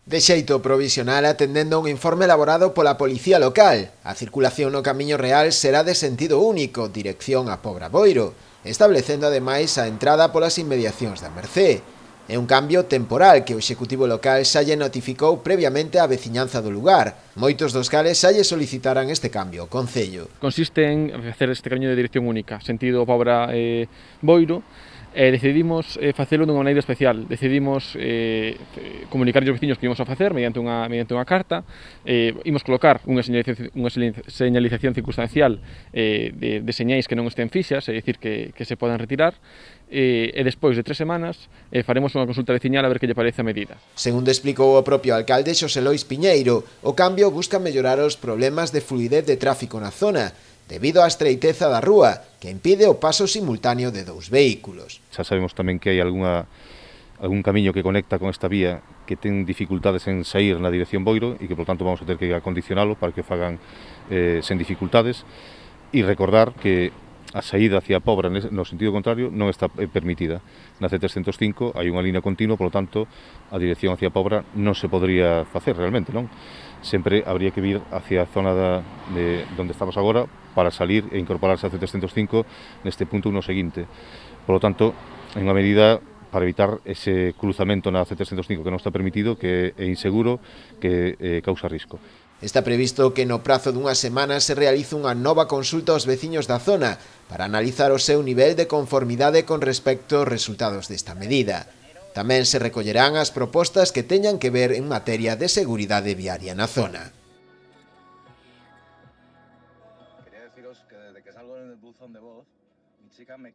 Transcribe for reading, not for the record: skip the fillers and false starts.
De xeito provisional, atendendo a un informe elaborado pola Policía Local, a circulación no Camiño Real será de sentido único, dirección a Pobraboiro, establecendo ademais a entrada polas inmediacións da Mercé. É un cambio temporal que o Executivo Local xa lle notificou previamente á veciñanza do lugar. Moitos dos cales xa lle solicitaran este cambio ao Concello. Consiste en facer este camiño de dirección única, sentido Pobra-Boiro, decidimos facelo dunha maneira especial. Decidimos comunicar aos veciños que íbamos a facer mediante unha carta. Imos colocar unha señalización circunstancial de señais que non estén fixas, é dicir, que se podan retirar. E despois de 3 semanas faremos unha consulta veciñal a ver que lle parece a medida. Segundo explicou o propio alcalde Xosé Lois Piñeiro, o cambio busca mellorar os problemas de fluidez de tráfico na zona, debido á estreiteza da rúa, que impide o paso simultáneo de dous vehículos. Xa sabemos tamén que hai algún camiño que conecta con esta vía que ten dificultades en sair na dirección Boiro e que, por tanto, vamos a ter que acondicionalo para que fagan sen dificultades, e recordar que a saída hacia Pobra no sentido contrario non está permitida. Na C305 hai unha línea continua, polo tanto, a dirección hacia Pobra non se podría facer realmente, non? Sempre habría que vir hacia a zona de onde estamos agora para salir e incorporarse a C305 neste punto no seguinte. Por lo tanto, en unha medida para evitar ese cruzamento na C305 que non está permitido, que é inseguro, que causa risco. Está previsto que no prazo dunha semana se realice unha nova consulta aos veciños da zona para analizar o seu nivel de conformidade con respecto aos resultados desta medida. Tamén se recollerán as propostas que teñan que ver en materia de seguridade viaria na zona. Quería deciros que desde que salgo en el buzón de voz, mi chica me